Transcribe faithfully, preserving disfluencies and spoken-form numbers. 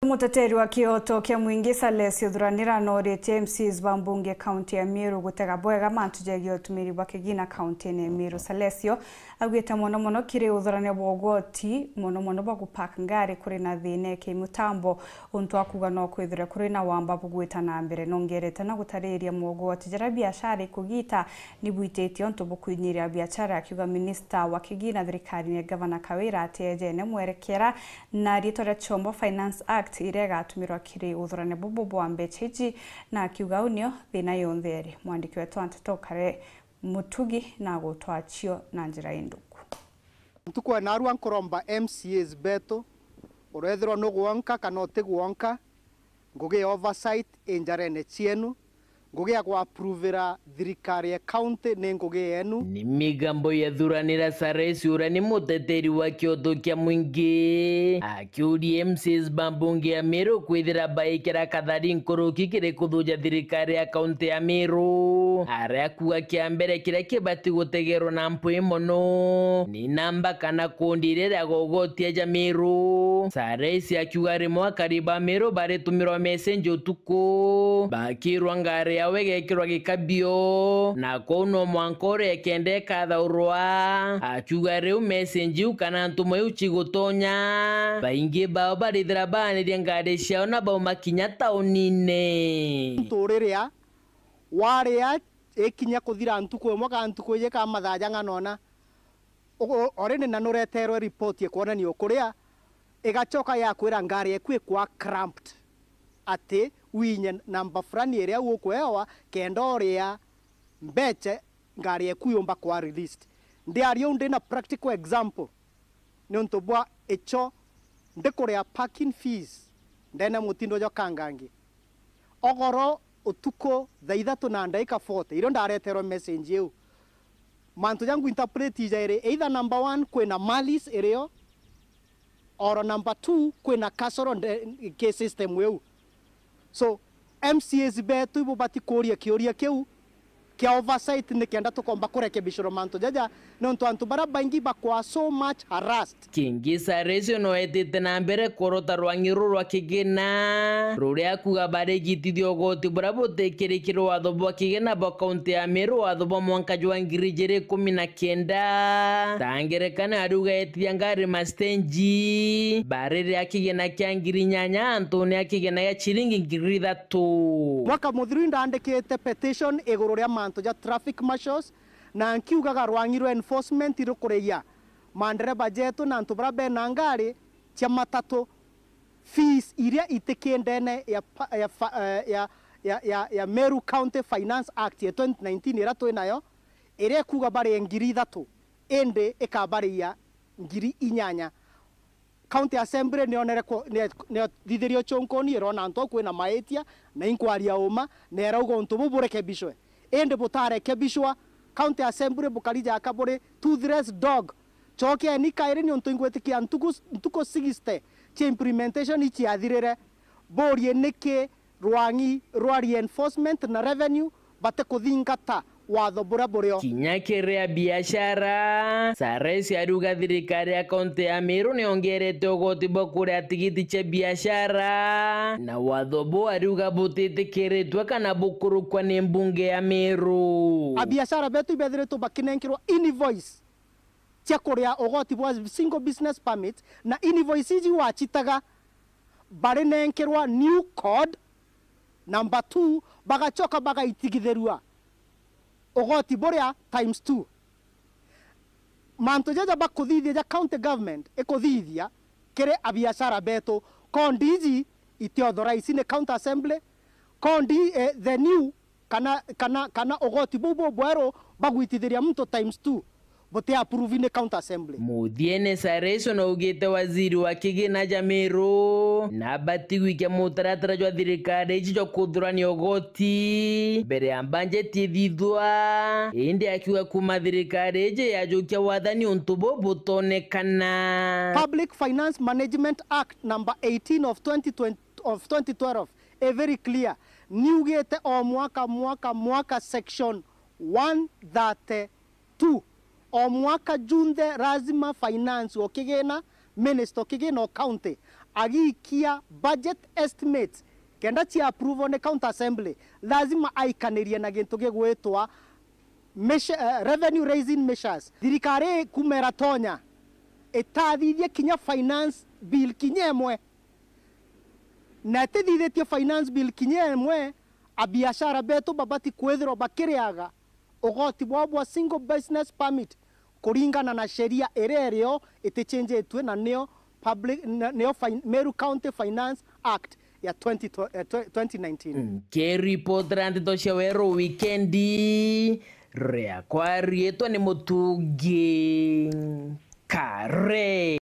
Muteteri wa kioto kia mwingi Salesio Thuranira nooritie M C As ba mbunge kaunti ya Meru gutega bwega mantu jegie utumiri bwa kigina kaunti-ini ya Meru. Salesio augite mono mono kiri uthurania bwa ugoti, mono mono bwa gupark ngari kuri na thina ya kimutambo, untu akuga no kwithire kuri na wamba bugwita na mbere. Nongerete na gutariria mogoti jaria biashara ikugita ni bwititie untu bukwinyiria biashara, akiuga minista wa kigina thirikarine Gavana Kawira atiejene mwerekera na riitwa ria Chombo Finance Act iria igatumirwa kiri uthurania bubu bwa mbecha iji, na akiuga uu nio thina yonthe iri. Mwandiki wetu wa nteto Kare Mutugi na agutwachio na njira induku. Ntuku ya narua nkuromba M C As betu, urethirwa nugwonka kana utigwonka, ngugi ya oversight injarene cienu, ngugi ya gwapruvira thirikari ya county ni ngugi yenu. Ni migambo ya Thuranira Saresi uria ni muteteri wa kioto kia mwingi, akiuria M C As ba mbunge ya Meru kwithira baikira kathari nkuruki kiri kuthuja thirikari ya kaunti ya Meru, aria akuga kia mbere kiria kibati gutegerwa na mpwi mono ni namba kana kundi iria ria gogotia ja Meru. Saresi akiuga rimwe akari ba Meru baritumirwa message utuku, bakirwa ngari yao igekirwa gikabio, na kwou no mwanka uria ikenda ikathaurwa. Akiuga riu message iu kana ntuma iu cigutonya, baingi bao barithira baanirie ngari ciao na bauma kinya taunine. Ntu riria waria ikinya kuthira ntuku imwe kana ntuku iji kana mathaa jang'ana ona, u-, u-, already na nureterwe report ikwonania ukuria, igacoka yakwira ngari eku ikwa cramped, ati winye namba fulani iria ukuewa kenda uria mbeche ngari eku yumba kwa released. Ndiaria uu ndina practical example niuntu bwa icho ndikuria parking fees ndene mutindo jwa Kangangi. Ogoro utuku thaa ithatu na ndaika forty, irio ndareterwe message iu. Mantu ja ngu interpret jairi, either number one, kwina malice irio, or number two, kwina kasoro nde-, ki system iu. So, M C As betu ibubati kuuria kiuria kiu kia oversight nikenda tukomba kurekebishirwa mantu jaja, niuntu antu baria baingi bakwa so much harassed. Kingi Saresio no etite na mbere kworota rwang'i ruru rwa kigina, ruria akuga barigitithia ugoti buria butikirikire watho bwa kigina bwa kaunti ya Meru, watho bwa mwanka jwa ngiri ijiri ikumi na kenda. Ta ngerekano, ariuga etithia ngari mastenji, bariria kigina kia ngiri inyanya antune ya kigina gia ciringi ngiri ithatu. Mwaka muthiru ndaandikite petition iguru ria mantu ja traffic marshals, na nkiugaga rwang'i rwa enforcement rukurigia mandereba jetu na antu baria bena ngari cia matatu fees iria itiki ndene ya pa-, ya fa-, eh, ya, ya, ya, ya Meru County Finance Act ya twenty nineteen iria twi nayo, iria ikuuga barie ngiri ithatu, indi ikabariia ngiri inyanya. County Assembly nionere ku-, ni-, niothithirie uchunkuni, irona antu au kwina maitia, na inkwaria uma, na irauga untu buu burekebishwe. Indi butarekebishwa, County Assembly bukari jaka buri toothless dog. Cokeni kairi, niuntu ingwitikia ntuku, ntuku sixty cia implementation iciathirire. Burie niki rwang'i rwa reinforcement na revenue batikuthingata watho buria burio. Kinya kiri a biashara, Sares ariuga thirikari ya kaunti ya Meru niongerete ugoti bwa kuria tigiti cia biashara, na watho buu ariuga butitikiritwe kana bukurukwa ni mbunge ya Meru. A biashara betu ibethiritwe bakinenkerwa invoice cia kuria ugoti bwa single business permit, na invoice iji wacitaga barinenkerwa new code, number two, bagacoka bagaitigithirua ugoti buria times two. Mantu jaja bakuthithia ja county government ikuthithia kiri a biashara betu, code iji iti authorize ni county assembly, code, eh, the new kana, kana, kana ugoti buu bubweru bagwitithiria muntu times two buti approve ni county assembly. Muthiene, Sareso naugite waziri wa kigina ja Meru nabati gwikia mutaratara jwa thirikari iji jwa kuthurania ugoti mbere ya mbanjeti ithithwa, indi akiuga kuma thirikari iji yajukia wathani untu buu butonekana. Public Finance Management Act number eighteen of twenty twenty, of twenty twelve, i very clear. Niugite o mwaka, mwaka, mwaka, section one thirty-two. O mwaka junthe lazima finance o kigina, minister o kigina o county agiikia budget estimates kenda cia approval ni county assembly, lazima aikanirie na gintu gigwitwa measure, eh, revenue raising measures. Thirikari kuma iratonya itathithie kinya finance bill kinya imwe, na itithithitie finance bill kinya imwe, abiashara betu babati kwithirwa bakiriaga ugoti bwao bwa single business permit kuringana na sheria iria irio itichenjetue, na nio public, na nio fin-, Meru County Finance Act ya twenty, eh, twe-, twenty nineteen. Nkiripotera ndeto cia Weru wikendi, riakwa riitwa ni Mutungi Kare.